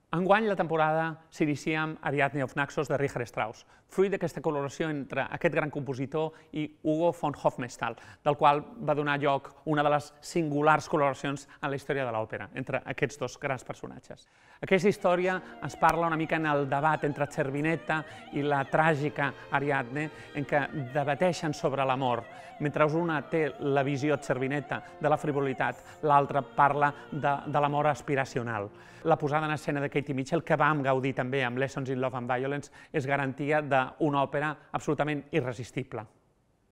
Enguany la temporada s'inicia amb Ariadne of Naxos de Richard Strauss, fruit d'aquesta col·laboració entre aquest gran compositor i Hugo von Hofmannsthal, del qual va donar lloc una de les singulars col·laboracions en la història de l'òpera, entre aquests dos grans personatges. Aquesta història ens parla una mica en el debat entre Cervineta i la tràgica Ariadne, en què debateixen sobre l'amor. Mentre una té la visió Cervineta de la frivolitat, l'altra parla de l'amor aspiracional. La posada en escena de Katie Mitchell, que vam gaudir també amb Lessons in Love and Violence, és garantia d'una òpera absolutament irresistible.